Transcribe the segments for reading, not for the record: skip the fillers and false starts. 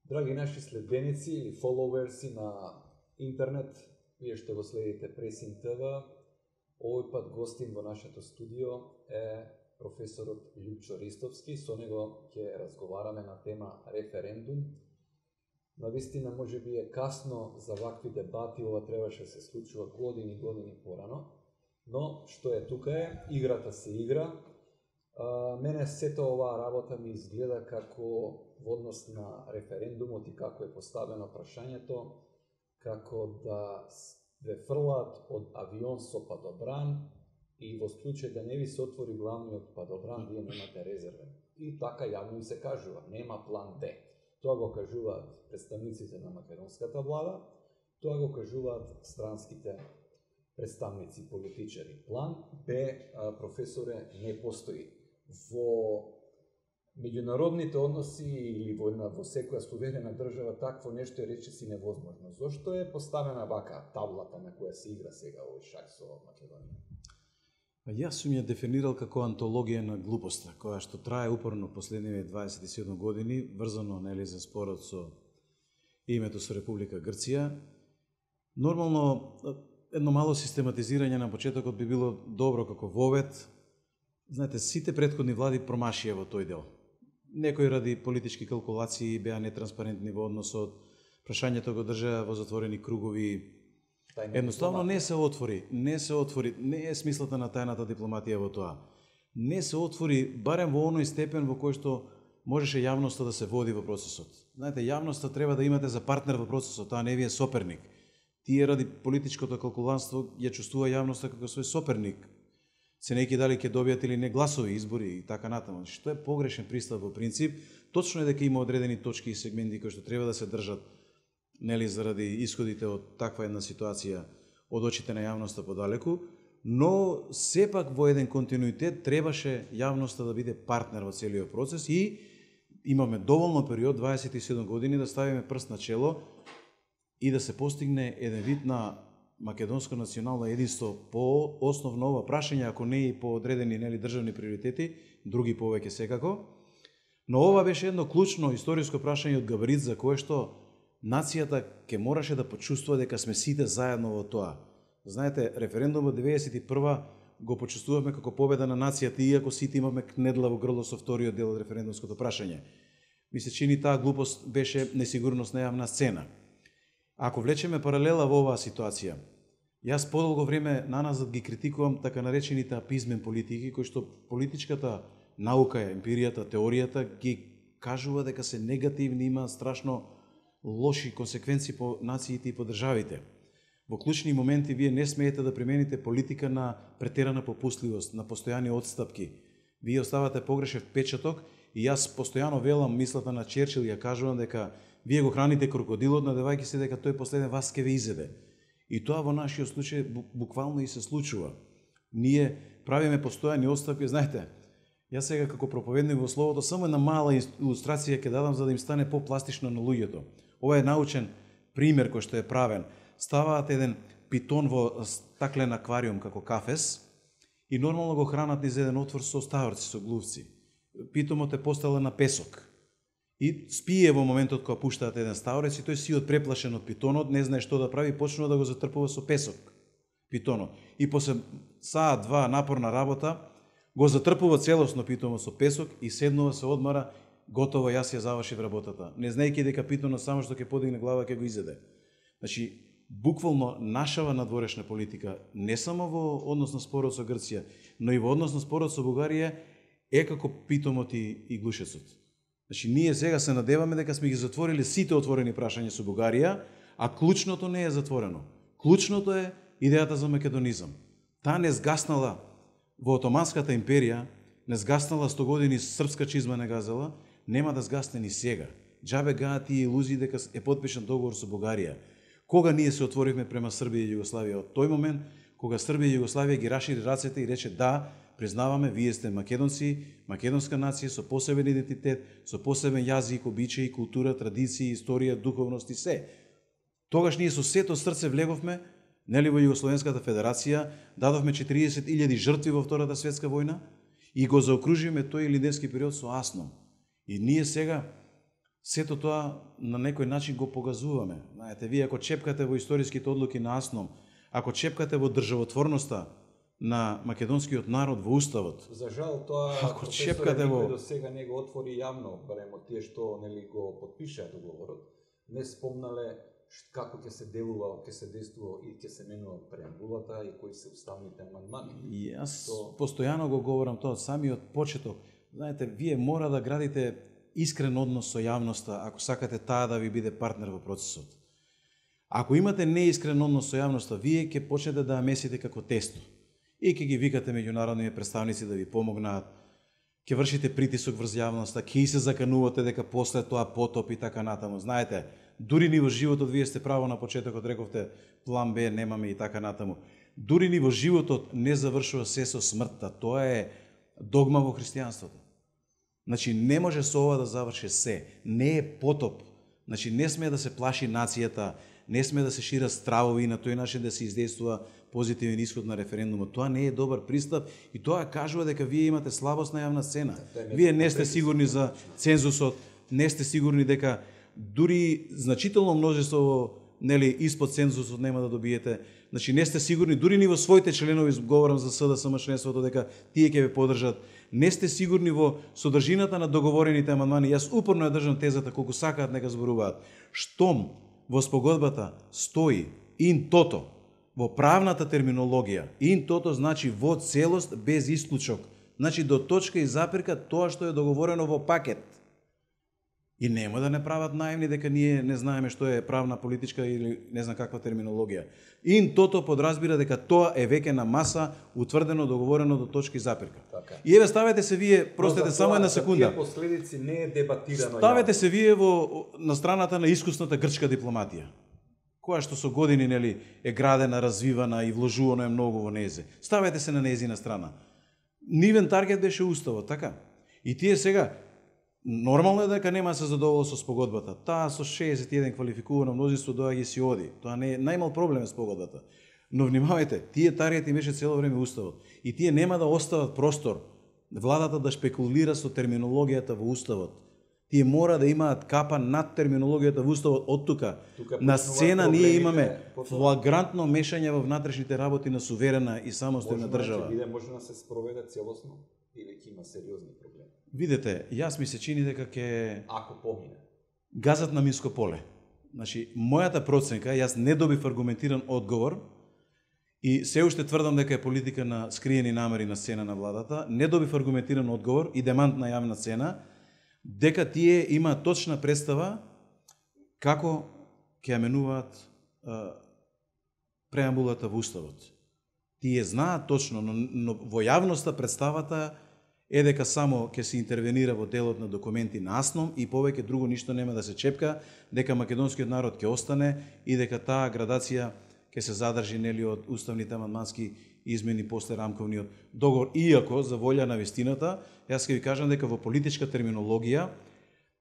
Драги наши следбеници или фоловерси на интернет, вие што го следите Пресинг ТВ, овој пат гостин во нашето студио е професорот Љупчо Ристовски. Со него ќе разговараме на тема референдум. Навистина може би е касно за вакви дебати, ова требаше да се случува години порано, но што е тука е, играта се игра. Мене сета оваа работа ми изгледа како во однос на референдумот и како е поставено прашањето, како да ве фрлаат од авион со падобран и во случај да не ви се отвори главниот падобран, вие немате резервен. И така јавно им се кажува, нема план Б. Тоа го кажуваат представниците на македонската влада, тоа го кажуваат странските представници, политичари. План Б, професоре, не постои. Во меѓународните односи или во секоја суверена држава такво нешто е речиси невозможно. Зошто е поставена вака таблата на која се игра сега овој шах со Македонија? Јас сум ја дефинирал како антологија на глупоста, која што трае упорно последниве 27 години, врзано за спорот со името со Република Грција. Нормално, едно мало систематизирање на почетокот би било добро како вовет. Знаете, сите претходни влади промашија во тој дел. Некои ради политички калкулации беа нетранспарентни во односот, прашањето го држаа во затворени кругови. Едноставно не се отвори, не е смислата на тајната дипломатија во тоа. Не се отвори, барем во оној степен во кој што можеше јавноста да се води во процесот. Знаете, јавноста треба да имате за партнер во процесот, таа не ви е соперник. Тие ради политичкото калкуланство ја чувствува јавноста како свој соперник, ценејќи дали ќе добијат или не гласови избори и така натаму. Што е погрешен пристап во принцип, точно е дека има одредени точки и сегменти кои што треба да се држат, заради исходите од таква една ситуација од очите на јавноста подалеку, но сепак во еден континуитет требаше јавноста да биде партнер во целиот процес и имаме доволно период, 27 години, да ставиме прст на чело и да се постигне еден вид на македонско национално единство по основно ова прашање, ако не и по одредени државни приоритети, други повеќе секако. Но ова беше едно клучно историско прашање од габарит за кое што нацијата ќе мораше да почувствува дека сме сите заедно во тоа. Знаете, референдумот 91 го почувствувавме како победа на нацијата, иако сите имаме кнедла во грло со вториот дел од референдумското прашање. Ми се чини таа глупост беше несигурност на јавна сцена. Ако влечеме паралела во оваа ситуација, јас подолго време наназад ги критикувам така наречените апизмен политики, кои што политичката наука, емпиријата, теоријата ги кажува дека се негативни, има страшно лоши консеквенции по нациите и по државите. Во клучни моменти вие не смеете да примените политика на претерана попустливост, на постојани отстапки. Вие оставате погрешен впечаток и јас постојано велам мислата на Черчил, ја кажувам дека вие го храните крокодилот, надевајќи се дека тој последен вас ќе ве изеде. И тоа во нашиот случај буквално и се случува. Ние правиме постојани отстапки, знаете, јас сега како проповедник во словото само една мала илустрација ќе дадам за да им стане попластично на луѓето. Ова е научен пример кој што е правен. Ставаат еден питон во стаклен аквариум како кафес и нормално го хранат низ еден отвор со ставарци, со глувци. Питомот е постелен на песок. И спие во моментот кога пуштаат еден ставарец и тој си одпреплашен од питонот, не знае што да прави, почнува да го затрпува со песок питонот. И после саат, два напорна работа, го затрпува целосно питомот со песок и седнува се одмара, готово, јас ја завршив работата. Не знаејќи дека питонот само што ќе подигне глава ќе го изеде. Значи, буквално нашава надворешна политика, не само во однос на спорот со Грција, но и во однос на спорот со Бугарија, е како питомот и глушецот. Значи, ние сега се надеваме дека сме ги затворили сите отворени прашања со Бугарија, а клучното не е затворено. Клучното е идејата за македонизам. Таа не згаснала во Отоманската империја, не згаснала 100 години српска чизма не газела, нема да згасне ни сега. Џабе гаат тие илузии дека е потпишан договор со Бугарија. Кога ние се отворивме према Србија и Југославија? Од тој момент, кога Србија и Југославија ги рашири рацете и рече да, признаваме, вие сте македонци, македонска нација со посебен идентитет, со посебен јазик, обичаи, култура, традиции, историја, духовност и се. Тогаш ние со сето срце влеговме, во Југословенската федерација, дадовме 40.000 жртви во Втората светска војна и го заокружиме тој илинденски период со Аснон. И ние сега сето тоа на некој начин го погазуваме. Знаете, вие ако чепкате во историските одлуки на АСНОМ, ако чепкате во државотворноста на македонскиот народ во уставот. За жал тоа ако чепкате во до сега не го отвори јавно, барем од тие што нели го потпишаа договорот, не спомнале како ќе се делува, ќе се действува и ќе се менува преамбулата и кои се уставните амандмани. И јас постојано го говорам тоа самиот почеток. Знаете, вие мора да градите искрен однос со јавноста ако сакате таа да ви биде партнер во процесот. Ако имате неискрен однос со јавноста, вие ќе почнете да ја месите како тесто. И ќе ги викате меѓународни представници да ви помогнат, ќе вршите притисок врз јавноста, ќе и се заканувате дека после тоа потоп и така натаму. Знаете, дури ни во животот, вие сте право на почетокот, рековте план Б немаме и така натаму. Дури ни во животот не завршува се со смртта. Тоа е догма во христијанството. Значи, не може со ова да заврши се. Не е потоп. Значи, не сме да се плаши нацијата, не сме да се шират стравови и на тој начин да се издействува позитивен исход на референдумот. Тоа не е добар пристап и тоа кажува дека вие имате слабост на јавна сцена. Вие не сте сигурни за цензусот, не сте сигурни дека дури значително множество нели испод цензусот нема да добиете. Значи не сте сигурни дури ни во своите членови, говорам за СДСМ членството, дека тие ќе ве поддржат. Не сте сигурни во содржината на договорените амандмани. Јас упорно ја држам тезата колку сакаат нека зборуваат. Штом во спогодбата стои ин тото, во правната терминологија, ин тото значи во целост без исклучок. Значи до точка и запирка тоа што е договорено во пакет. И нема да не прават наивни дека ние не знаеме што е правна, политичка или не знам каква терминологија. Ин тото подразбира дека тоа е веќе на маса, утврдено, договорено до точка и запирка. Така. И еве ставете се вие, простете само една секунда. Тие последици не е дебатирано. Ставете се вие на страната на искусната грчка дипломатија, која што со години нели е градена, развивана и вложувано е многу во незе. Ставете се на нејзина страна. Нивен таргет беше уставот, така? И тие сега нормално е дека нема да се задоволат со спогодбата. Таа со 61 квалификувано мнозинство доаѓа и си оди. Тоа не е најмал проблем е спогодбата. Но внимавајте, тие таргети беше цело време уставот. И тие нема да остават простор владата да шпекулира со терминологијата во уставот. Тие мора да имаат капа над терминологијата во уставот од тука. На сцена ние имаме флагрантно мешање во внатрешните работи на суверена и самостојна држава. Може да се спроведе целосно или ќе има сериозни проблеми. Видете, јас ми се чини дека ќе ако помине газат на минско поле. Значи, мојата проценка, јас не добив аргументиран одговор и се уште тврдам дека е политика на скриени намери на сцена на владата, не добив аргументиран одговор и демант на јавна цена, дека тие има точна представа како ќе ја менуваат преамбулата во уставот. Тие знаат точно, но во јавноста представата е дека само ќе се интервенира во делот на документи на АСНОМ и повеќе друго ништо нема да се чепка, дека македонскиот народ ќе остане и дека таа градација ќе се задржи нели од уставните амандмански измени после рамковниот договор. Иако, за волја на вистината, јас ќе ви кажам дека во политичка терминологија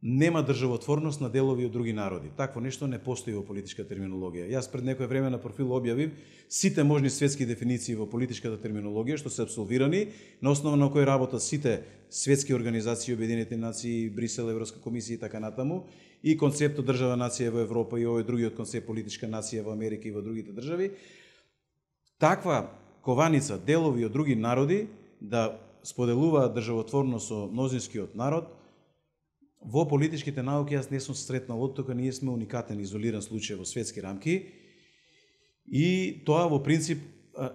нема државотворност на делови од други народи. Такво нешто не постои во политичка терминологија. Јас пред некое време на профил објавив сите можни светски дефиниции во политичката терминологија што се апсолвирани, на основа на кои работат сите светски организации, Обединените нации, Брисел, Европска комисија и така натаму, и концептот држава нација во Европа и овој другиот концепт политичка нација во Америка и во другите држави. Таква кованица делови од други народи да споделуваат државотворност со мнозинскиот народ, во политичките науки јас не сум сретнал од тука, ние сме уникатен, изолиран случај во светски рамки и тоа во принцип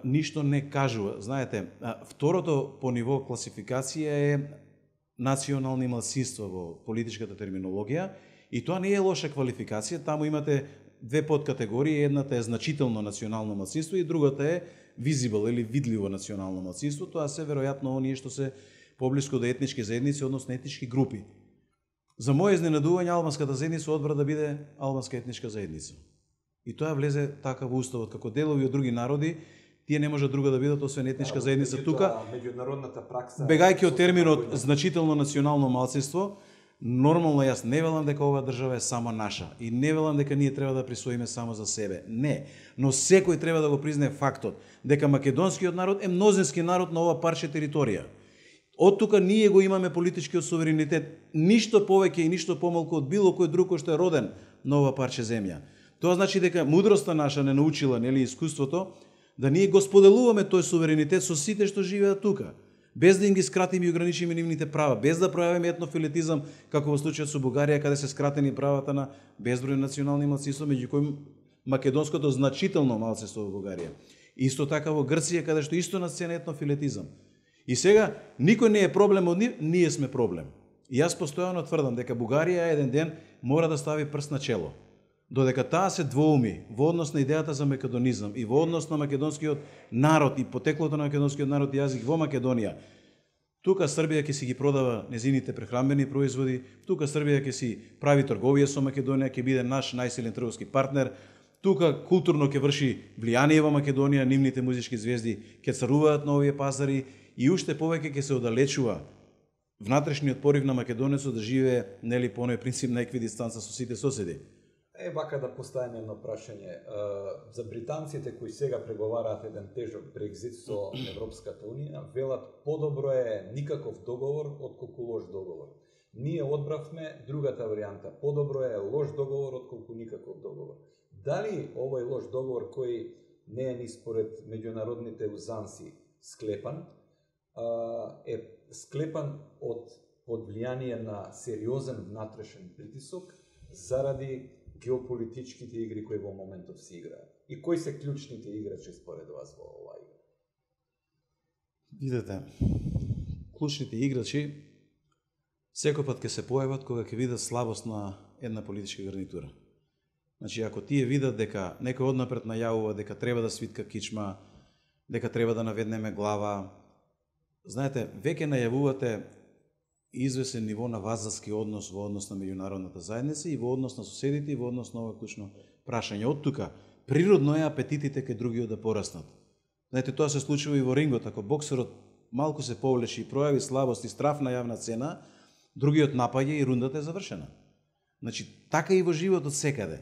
ништо не кажува. Знаете, второто по ниво класификација е национални малцинства во политичката терминологија и тоа не е лоша квалификација, таму имате две подкатегории, едната е значително национално малцинство и другата е visible или видливо национално малцинство, тоа се веројатно оние што се поблиску до етнички заедници, односно етнички групи. За моје изненадување, албанската заедница одбра да биде албанска етничка заедница. И тоа влезе така во уставот, како делови од други народи, тие не може друга да бидат освен етничка заедница тука. Меѓународната пракса, бегајќи од терминот значително национално малцинство, нормално јас не велам дека оваа држава е само наша и не велам дека ние треба да присвоиме само за себе. Не, но секој треба да го признае фактот дека македонскиот народ е мнозински народ на ова парче територија. Од тука ние го имаме политичкиот суверенитет, ништо повеќе и ништо помалку од било кој друг кој што е роден на ова парче земја. Тоа значи дека мудроста наша не научила, нели, искуството, да ние го споделуваме тој суверенитет со сите што живеат тука, без да им ги скратиме и ограничиме нивните права, без да пројавиме етнофилетизам, како во случајот со Бугарија, каде се скратени правата на безброј национални малцинства, меѓу кои македонското значително малцинство во Бугарија. Исто така во Грција, каде што исто на сцена етнофилетизам. И сега, никој не е проблем од нив, ние сме проблем. И јас постојано тврдам дека Бугарија еден ден мора да стави прст на чело. Додека таа се двоуми во однос на идејата за македонизам и во однос на македонскиот народ и потеклото на македонскиот народ и јазик во Македонија, тука Србија ќе си ги продава незините прехранбени производи, тука Србија ќе си прави трговија со Македонија, ќе биде наш најсилен трговски партнер, тука културно ќе врши влијание во Македонија, нивните музички звезди ќе царуваат на овие пазари и уште повеќе ќе се оддалечува внатрешниот порив на македонецот да живее, нели, по оној принцип на еквидистанца со сите соседи. Вака да поставиме едно прашање. За британците кои сега преговараат еден тежок Брекзит со Европската Унија, велат подобро е никаков договор отколку лош договор. Ние одбравме другата варијанта. Подобро е лош договор отколку никаков договор. Дали овој лош договор кој не е ни според меѓународните узанси склепан, е склепан под влијание на сериозен внатрешен притисок заради геополитичките игри кои во моментов се играат? И кои се клучните играчи според вас во оваа игра? Видете, клучните играчи секој пат ќе се појават кога ќе видат слабост на една политичка гарнитура. Значи, ако тие видат дека некој однапред најавува дека треба да свитка кичма, дека треба да наведнеме глава, знаете, веќе најавувате извесен ниво на вазалски однос во однос на меѓународната заедница и во однос на соседите и во однос на ова клучно прашање. Од тука, природно е апетитите кај другиот да пораснат. Знаете, тоа се случува и во рингот. Ако боксерот малку се повлечи и пројави слабост и страф на јавна цена, другиот напаѓа и рундата е завршена. Значи, така и во животот секаде.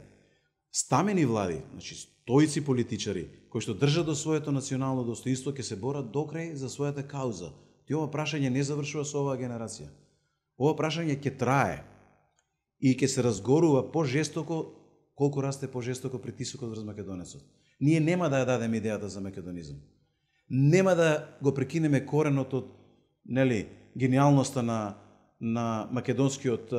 Стамени влади, значи стоици политичари, кои што држат до своето национално достоинство, ќе се борат докрај за својата кауза. И ова прашање не завршува со оваа генерација. Ова прашање ќе трае и ќе се разгорува пожестоко колку расте пожестоко притисокот врз македонецот. Ние нема да ја дадеме идејата за македонизам. Нема да го прекинеме коренот од, нели, гениалноста на македонскиот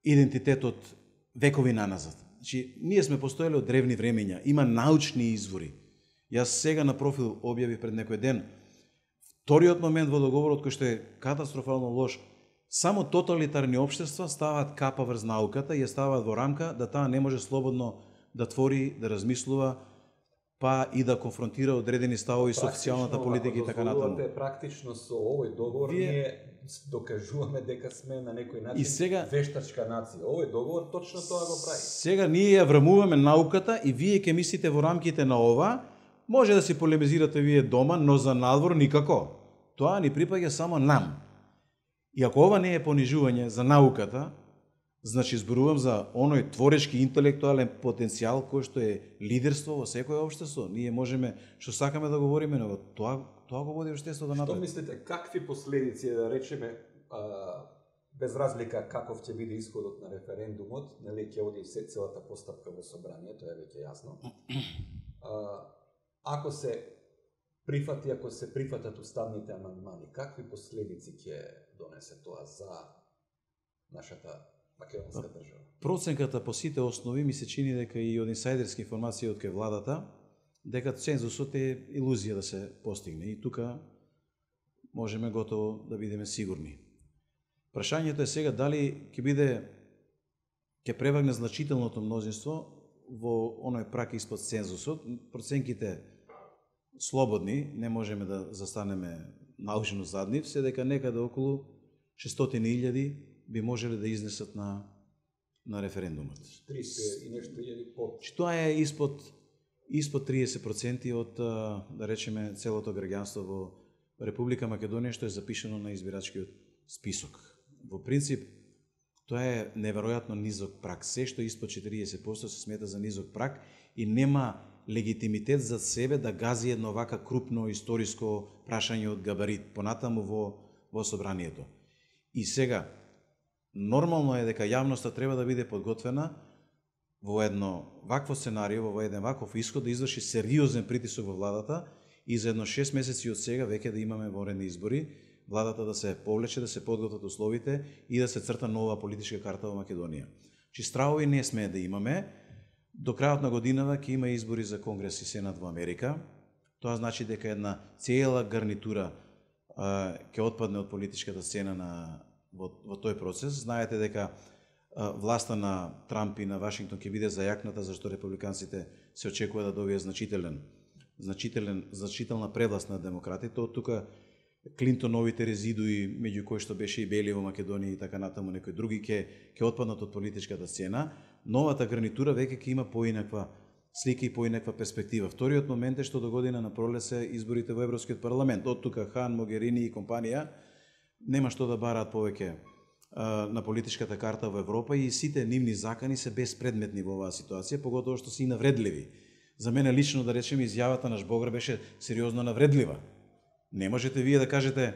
идентитет од векови наназад. Значи, ние сме постоеле од древни времења, има научни извори. Јас сега на профил објавив пред некој ден. Вториот момент во договорот кој што е катастрофално лош, само тоталитарни општества ставаат капа врз науката и ја ставаат во рамка да таа не може слободно да твори, да размислува, па и да конфронтира одредени ставови со официјалната политика и така натаму. Практично со овој договор ние докажуваме дека сме на некој начин сега, вештачка нација. Овој договор точно тоа го прави. Сега ние ја врамуваме науката и вие ќе мислите во рамките на ова. Може да си полемизирате вие дома, но за надвор никако. Тоа ни припаѓа само нам. И ако ова не е понижување за науката, значи зборувам за оној творечки интелектуален потенцијал кој што е лидерство во секое општество. Ние можеме што сакаме да говориме, но тоа го води општеството напред. Што мислите, какви последици, да речеме, без разлика каков ќе биде исходот на референдумот, нели ќе оди целата постапка во собранието, е веќе јасно. Ако се прифатат уставните амандмани, какви последици ќе донесе тоа за нашата македонска држава? Проценката по сите основи ми се чини дека и од инсайдерски информации од кај владата, дека цензусот е илузија да се постигне. И тука можеме готово да бидеме сигурни. Прашањето е сега дали ќе превагне значителното мнозинство во оној прак испод цензусот. Проценките слободни, не можеме да застанеме научно зад нив, се дека некаде околу 600.000 би можеле да изнесат на референдумот. 30 и нешто илјади по. Тоа е испод 30% од, да речеме, целото граѓанство во Република Македонија што е запишано на избирачкиот список. Во принцип, тоа е неверојатно низок прак. Се што испод 40% се смета за низок прак и нема легитимитет за себе да гази едно вака крупно историско прашање од габарит понатаму во собранието. И сега, нормално е дека јавноста треба да биде подготвена во едно вакво сценарио, во еден ваков исход, да изврши сериозен притисок во владата и за едно 6 месеци од сега веќе да имаме воредни избори, владата да се повлече, да се подготват условите и да се црта нова политичка карта во Македонија. Чи стравови не смее да имаме. До крајот на годинава ќе има избори за Конгрес и Сенат во Америка. Тоа значи дека една цела гарнитура ќе отпадне од политичката сцена во тој процес. Знаете дека власта на Трамп и на Вашингтон ќе биде зајакната, зашто републиканците се очекува да добијат значителна превласт на демократите. Од тука Клинтоновите резидуи, меѓу кои што беше и Бели во Македонија и така натаму некои други ќе отпаднат од политичката сцена. Новата гарнитура веќе ќе има поинаква слика и поинаква перспектива. Вториот момент е што до година на пролет се изборите во Европскиот парламент. Од тука Хан, Могерини и компанија нема што да бараат повеќе на политичката карта во Европа и сите нивни закани се безпредметни во оваа ситуација, поготово што се и навредливи. За мене лично, да речеме, изјавата на Жбогар беше сериозно навредлива. Не можете вие да кажете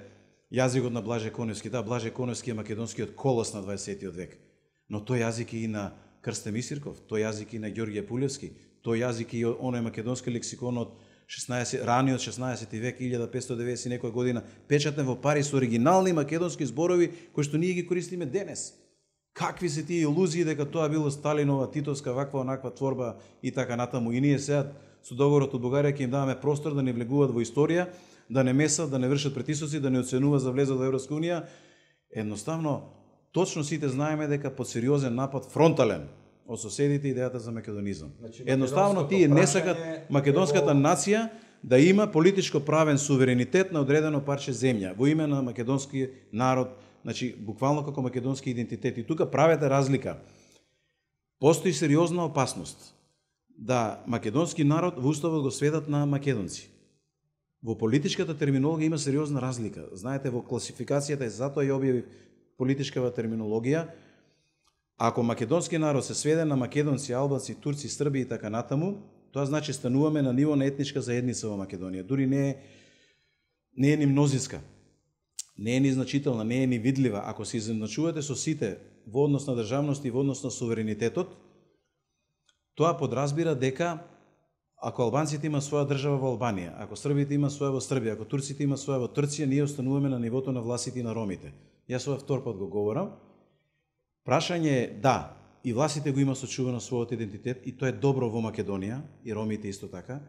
јазикот на Блаже Коневски. Да, Блаже Коневски е македонскиот колос на 20 век, но тој јазик е и на Крстем Исирков, тој јазик и на Ѓорѓе Пулевски, тој јазик и оној македонски лексикон од раниот 16 век, 1590 некоја година, печатен во Париз со оригинални македонски зборови кои што ние ги користиме денес. Какви се тие илузии дека тоа било Сталинова, Титовска, ваква онаква творба и така натаму. И ние сега со договорот од Бугарија ќе им даваме простор да не влегуваат во историја, да не месат, да не вршат притисоци, да не оценува за влезот во Европска унија. Едноставно, точно сите знаеме дека под сериозен напад фронтален од соседите идејата за македонизам. Значи, едноставно тие не сакат македонската нација да има политичко правен суверенитет на одредено парче земја во име на македонски народ, значи буквално како македонски идентитет. И тука правете разлика. Постои сериозна опасност да македонски народ во уставот го сведат на македонци. Во политичката терминологија има сериозна разлика. Знаете, во класификацијата, затоа ја објавив политичкава терминологија, ако македонски народ се сведе на македонци, албанци, турци, срби и така натаму, тоа значи стануваме на ниво на етничка заедница во Македонија. Дури не е ни мнозинска, не е ни значителна, не е ни видлива. Ако се изначувате со сите во однос на државност и во однос на суверенитетот, тоа подразбира дека ако албанците има своја држава во Албанија, ако србите има своја во Србија, ако турците има своја во Турција, ние остануваме на нивото на властите и на ромите. Јас ова втор пат го говорам. Прашање е да, и властите го има сочувано својот идентитет и тоа е добро во Македонија, и ромите исто така.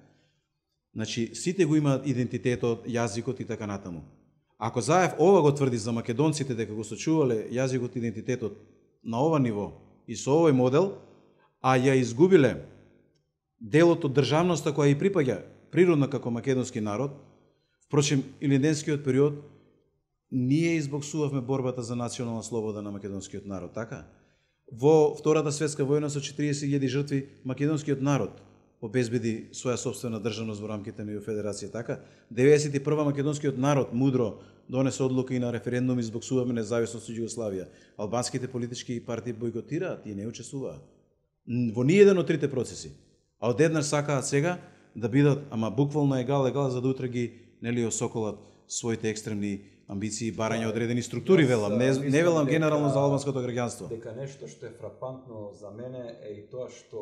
Значи, сите го имаат идентитетот, јазикот и така натаму. Ако Заев ова го тврди за македонците дека го сочувале јазикот и идентитетот на ова ниво и со овој модел, а ја изгубиле делот од државноста која и припаѓа природно како македонски народ, впрочем, илинденскиот период, ние избоксувавме борбата за национална слобода на македонскиот народ, така? Во Втората светска војна со 40.000 жртви, македонскиот народ обезбеди своја собствена државност во рамките на Федерација, така? 91 македонскиот народ мудро донесе одлука и на референдум избоксуваме независност од Југославија. Албанските политички партии бойкотираат и не учествуваат во ниеден од трите процеси. А одеднаш сакаат сега да бидат, ама буквално егал, за да утре ги нели осоколат своите екстремни амбиции и барања одредени структури, велам, не велам генерално за албанското граѓанство. Дека нешто што е фрапантно за мене е и тоа што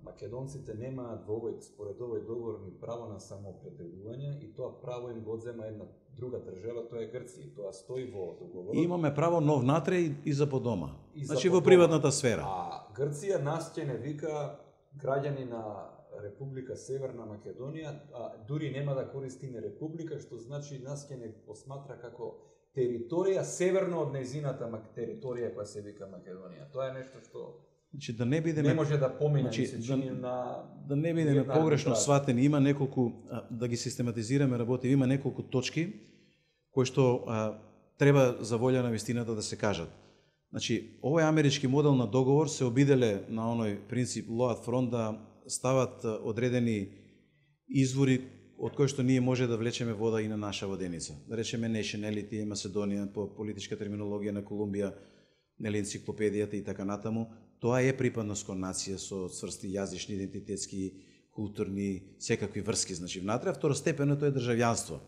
македонците немаат според овој договор ни право на самоопределување и тоа право им го одзема една друга држава, тоа е Грција. Тоа стои во договорот. Имаме право но внатре и за подома. Значи во приватната сфера. А Грција нас ќе не вика граѓани на Република Северна Македонија, дури нема да користи име Република, што значи нас ќе не посматра како територија северно од нејзината територија која се вика Македонија. Тоа е нешто што значи, да не бидеме, не може да помине, се чини на да не бидеме погрешно сватени, има неколку да ги систематизираме работи, има неколку точки кои што треба за волја на вистината да се кажат. Значи, овој амерички модел на договор се обиделе на оној принцип law at front да стават одредени извори од кои што ние може да влечеме вода и на наша воденица. Да речеме nationality, Macedonија по политичка терминологија на Колумбија, нели енциклопедијата и така натаму. Тоа е припадност кон нација со цврсти јазични, идентитетски, културни, секакви врски, значи внатре, а второстепеното е државјанство.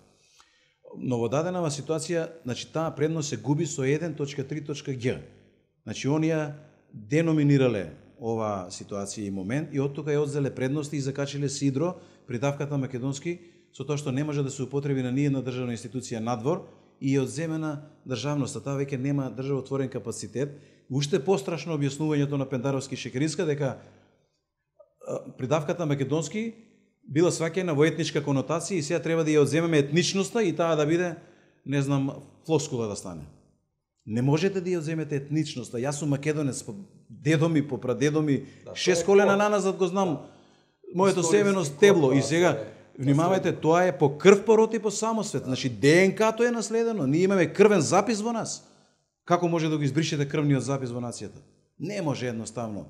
Но во даденава ситуација, значи таа предност се губи со 1.3.g. Значи оние деноминирале ова ситуација и момент и од тука ја одзеле предности и закачиле сидро придавката македонски со тоа што не може да се употреби на ниедна државна институција надвор и е одземена државноста. Таа веќе нема државотворен капацитет. Уште пострашно објаснувањето на Пендаровски и Шекеринска дека придавката македонски била сваќена во етничка конотација и сега треба да ја одземеме етничноста и таа да биде, не знам, флоскула да стане. Не можете да ја одземете етничноста. Јас сум македонец по дедоми, по прадедоми, 6 колена наназад го знам моето семено стебло и сега внимавајте, тоа е по крв, по род и по самосвет. Значи ДНК-то е наследено. Ние имаме крвен запис во нас. Како може да го избришете крвниот запис во нацијата? Не може едноставно.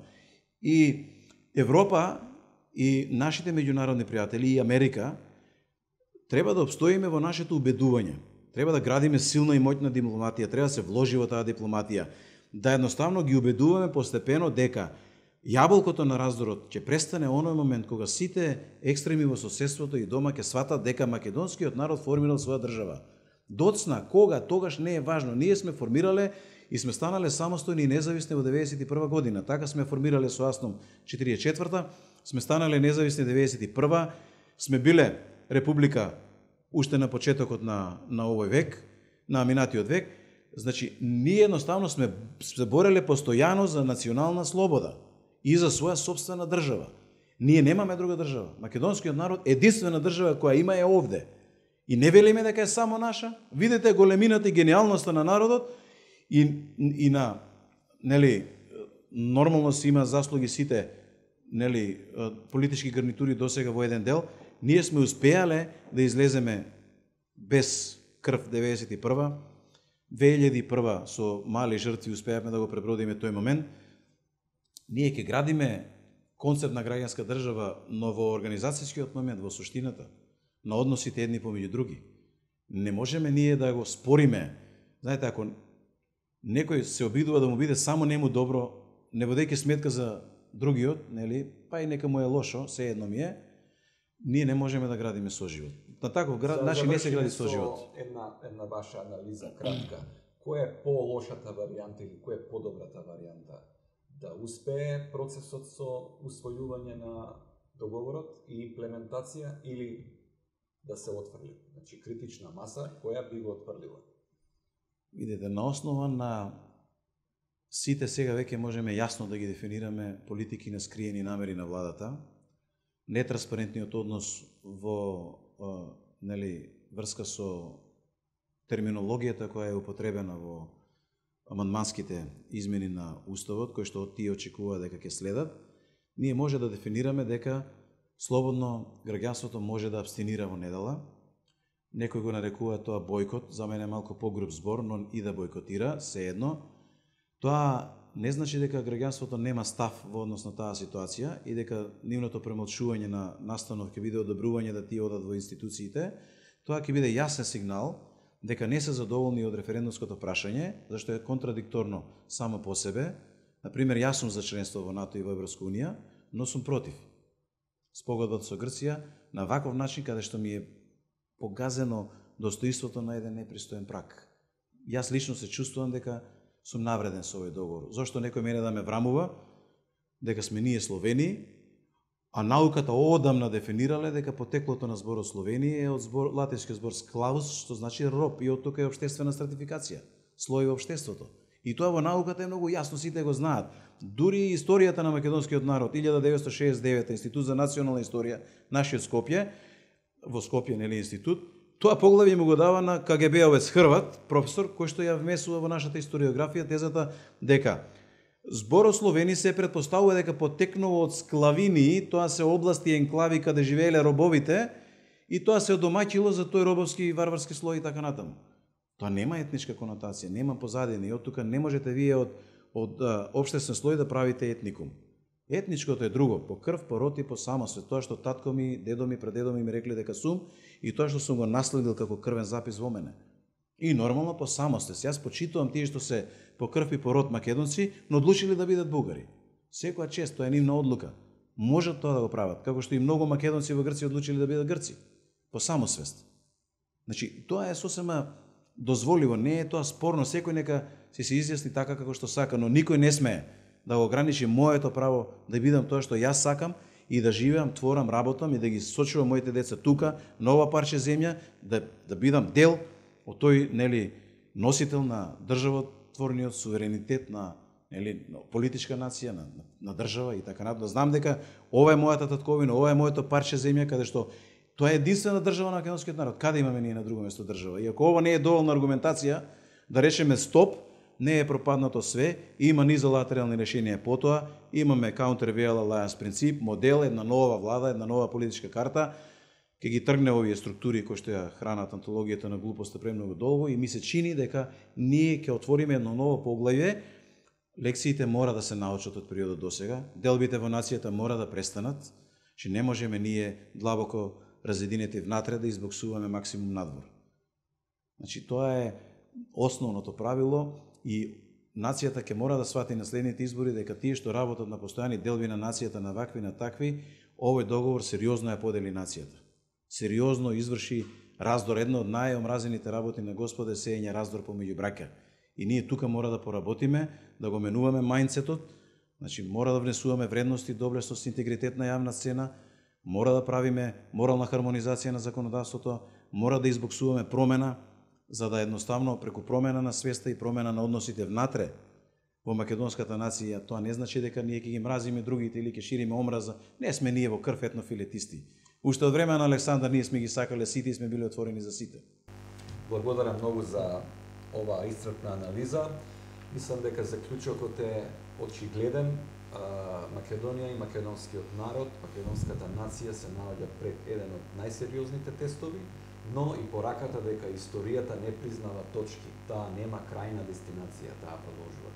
И Европа и нашите меѓународни пријатели и Америка треба да обстоиме во нашето убедување. Треба да градиме силна и моќна дипломатија, треба да се вложи во таа дипломатија, да едноставно ги убедуваме постепено дека јаболкото на раздорот ќе престане оној момент кога сите екстреми во соседството и дома ќе сватат дека македонскиот народ формирал своја држава. Доцна, кога, тогаш не е важно. Ние сме формирале и сме станале самостојни и независни во 91 година. Така сме формирале со Асном 44-та, сме станале независни 91-та, сме биле република уште на почетокот на овој век, на минатиот век. Значи, ние едноставно сме се бореле постојано за национална слобода и за своја собствена држава. Ние немаме друга држава. Македонскиот народ единствена држава која има е овде. И не велиме дека е само наша. Видете големината и гениалноста на народот и на, нели, нормално си има заслуги сите, нели, политички гарнитури досега во еден дел. Ние сме успеале да излеземе без крв 91-а, 2001 со мали жртви успеавме да го пребродиме тој момент. Ние ќе градиме концепт на граѓанска држава, но во организацијскиот момент, во суштината, на односите едни помеѓу други. Не можеме ние да го спориме. Знаете, ако некој се обидува да му биде само нему добро, не водејќи сметка за другиот, нели, па и нека му е лошо, се едно ми е, ние не можеме да градиме соживот. На таков начин не се гради соживот. Една ваша анализа кратка. Која е по-лошата варијанта или која е по-добрата варијанта? Да успее процесот со усвојување на договорот и имплементација или да се отфрли? Значи критична маса која би го отфрлила? Видете, на основа на сите сега веќе можеме јасно да ги дефинираме политики на скриени намери на владата, нетранспарентниот однос во нели, врска со терминологијата која е употребена во амандманските измени на Уставот, кои што тие очекува дека ќе следат, ние може да дефинираме дека слободно граѓанството може да абстинира во недела. Некој го нарекува тоа бојкот, за мене е малку погруб збор, но и да бојкотира, се едно. Тоа не значи дека граѓанството нема став во однос на таа ситуација и дека нивното премолчување на настанов ќе биде одобрување да тие одат во институциите. Тоа ќе биде јасен сигнал дека не се задоволни од референдумското прашање, зашто е контрадикторно само по себе. Например, јас сум за членство во НАТО и во Европска унија, но сум против спогодбата со Грција на ваков начин каде што ми е погазено достоинството на еден непристоен прак. Јас лично се чувствувам дека сум навреден со овој договор. Зошто некој мене да ме врамува дека сме ние Словени, а науката одамна дефинирале дека потеклото на зборот Словенија е од латинскиот збор склавус, што значи роб, и од тука е општествена стратификација, слој во општеството. И тоа во науката е многу јасно, сите го знаат. Дури историјата на македонскиот народ, 1969 Институт за национална историја, нашиот Скопје, во Скопје, нели, институт, тоа поглавје му го дава на КГБ-овец Хрват, професор, кој што ја вмесува во нашата историографија тезата дека зборот Словени се предпоставува дека потекнува од склавини, тоа се области и енклави каде живееле робовите, и тоа се одомаќило за тој робовски и варварски слој и така натаму. Тоа нема етничка конотација, нема позадина и од тука не можете вие од општествен слој да правите етникум. Етничкото е друго, по крв, по род и по самосвет, тоа што татко ми, дедо ми, прадедо ми рекли дека сум и тоа што сум го наследил како крвен запис во мене. И нормално по самосвет. Јас почитувам тие што се по крв и по род македонци, но одлучили да бидат бугари. Секоја чест, тоа е нивна одлука. Можат тоа да го прават, како што и многу македонци во Грција одлучили да бидат грци, по самосвест. Значи, тоа е сосема дозволиво, не е тоа спорно, секој нека се изјасни така како што сака, но никој не смее да го ограничи моето право да бидам тоа што јас сакам и да живеам, творам, работам и да ги сочувам моите деца тука, на ова парче земја, да бидам дел од тој, нели, носител на државотворниот суверенитет на, нели, политичка нација, на држава и така натаму. Да знам дека ова е мојата татковина, ова е моето парче земја каде што тоа е единствена држава на македонскиот народ. Каде имаме ние на друго место држава? И ако ова не е доволна аргументација да речеме стоп, не е пропаднато све, има низолатерални решенија потоа, имаме counter-vail alliance принцип, модел, една нова влада, една нова политичка карта, ќе ги тргне овие структури кои што ја хранат антологијата на глупоста премногу долго и ми се чини дека ние ќе отвориме едно ново поглавје. Лекциите мора да се научат од периодот досега, делбите во нацијата мора да престанат, че не можеме ние длабоко разединети внатре да избоксуваме максимум надвор. Значи, тоа е основното правило и нацијата ќе мора да свати на следните избори дека тие што работат на постојани делби на нацијата, на вакви, на такви, овој договор сериозно ја подели нацијата. Сериозно изврши раздор. Едно од најомразените работи на Господа е сеење раздор помеѓу браќа. И ние тука мора да поработиме, да го менуваме мајндсетот, значи мора да внесуваме вредности, доблесност, интегритет на јавна сцена, мора да правиме морална хармонизација на законодавството, мора да избоксуваме промена, за да едноставно преку промена на свеста и промена на односите внатре во македонската нација, тоа не значи дека ние ќе ги мразиме другите или ќе шириме омраза. Не сме ние во крв етнофилетисти. Уште од време на Александар ние сме ги сакале сите и сме биле отворени за сите. Благодарам многу за оваа исцрпна анализа. Мислам дека заклучокот е очигледен. Македонија и македонскиот народ, македонската нација се наоѓа пред еден од најсериозните тестови, но и пораката дека историјата не признава точки, таа нема крајна дестинација, таа продолжува.